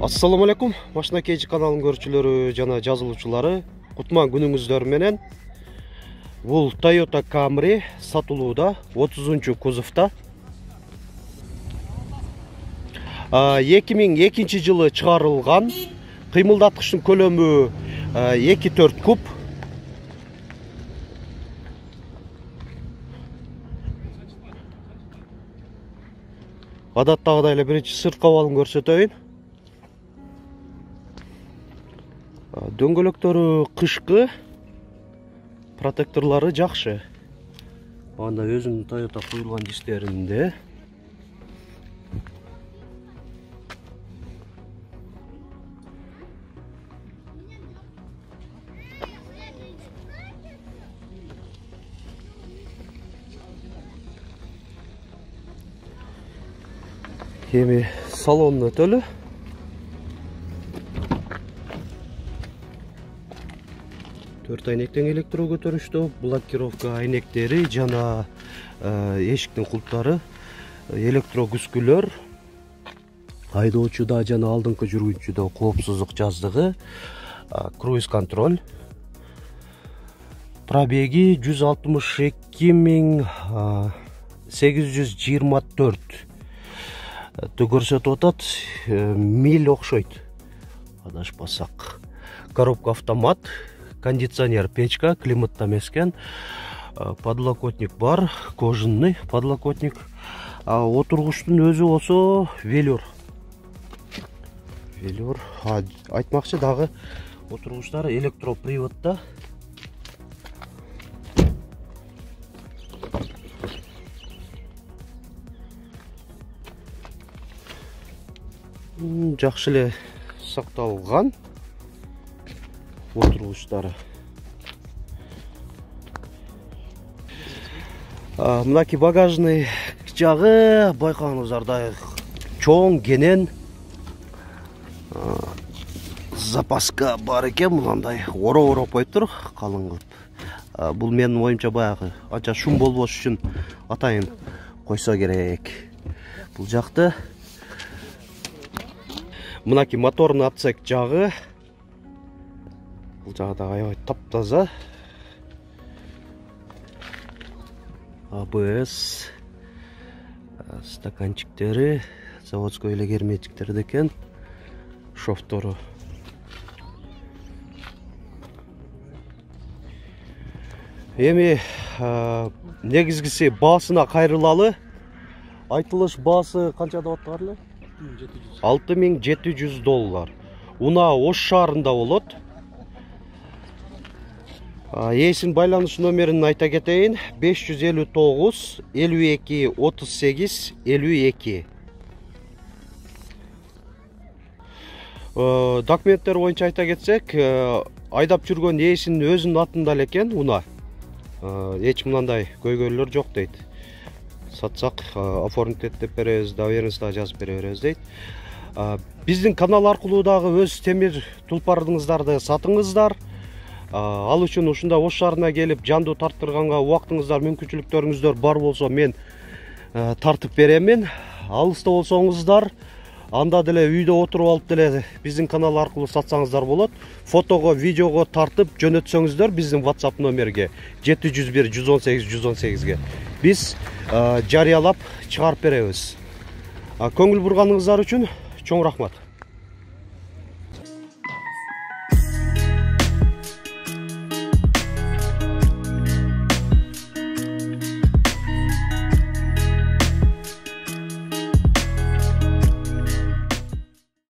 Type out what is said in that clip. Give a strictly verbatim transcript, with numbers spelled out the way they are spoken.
Assalamu alaikum, Машина Кейджи каналынын көрүүчүлөрү жана жазылуучулары. Кутман күнүңүздөр менен. Бул Toyota Camry сатылууда, отузунчу кузовта. эки миң экинчи жылы чыгарылган. Кыймылдаткычтын көлөмү эки төрт куб. Адаттагыдай эле биринчи сырткы абалын көрсөтөйүн. Дөңгөлөктөрү кышкы, протекторлары жакшы. Анда өзүнүн Toyota куюлган дистеринде. Эми салонун өтөлү. Төрт айнектен электро көтөрүштү, блокировка айнектери жана эшиктин кулптары, электро күскүлөр, айдоочуда жана алдыңкы жүргүнчүдө коопсуздук жаздыгы, круиз контроль. Пробеги жүз алтымыш эки миң сегиз жүз жыйырма төрт көрсөтүп атат, миль окшойт. Адашпасак. Коробка автомат, кондиционер печка, климатта эмескен, подлокотник бар, кожаный подлокотник. Отургучтун өзү болсо велюр. Велюр. Айтмакчы дагы отургучтар электроприводдо. Жакшы эле сакталган отургучтары. Мынакей багажный жагы байкаңыздардай чоң, кенен. Запаска бар экен, мындай ороп-ороп коюптур, калың кылып. Бул менин оюмча баягы анча шум болбош үчүн атайын койсо керек. Бул жакты мынакей моторный отсек жагы. Бул жагы да аябай таптаза. а бэ эс стаканчиктери, заводской эле герметиктер экен. Шофтору. Эми негизгиси баасына кайрылалы. Айтылыш баасы канча деп аттыгар эле? алты миң жети жүз доллар. Уна Ош шаарында болот. Ээсинин байланыш номерин айта кетейин. беш жүз элүү тогуз элүү эки отуз сегиз элүү эки. Документтер боюнча айта кетсек, айдап жүргөн ээсинин өзүнүн атында экен уна. Эч мындай көйгөйлөр жок дейт. Сатсак оформить деп беребиз, доверенность жазып бере беребиз дейт. Биздин канал аркылуу дагы өз темир тулпарыңыздарды сатыңыздар. Ал үчүн ушунда Ош шаарына келип жандуу тарттырганга убактыңыздар, мүмкүнчүлүктөрүңүздөр бар болсо мен тартып беремин. Алыста болсоңуздар, анда деле үйдө отуруп алып деле биздин канал аркылуу сатсаңыздар болот. Фотого, видеого тартып жөнөтсөңүздөр биздин WhatsApp номерге жети жүз бир жүз он сегиз жүз он сегизге биз жарыялап чыгарып беребиз. Көңүл бурганыңыздар үчүн чоң рахмат.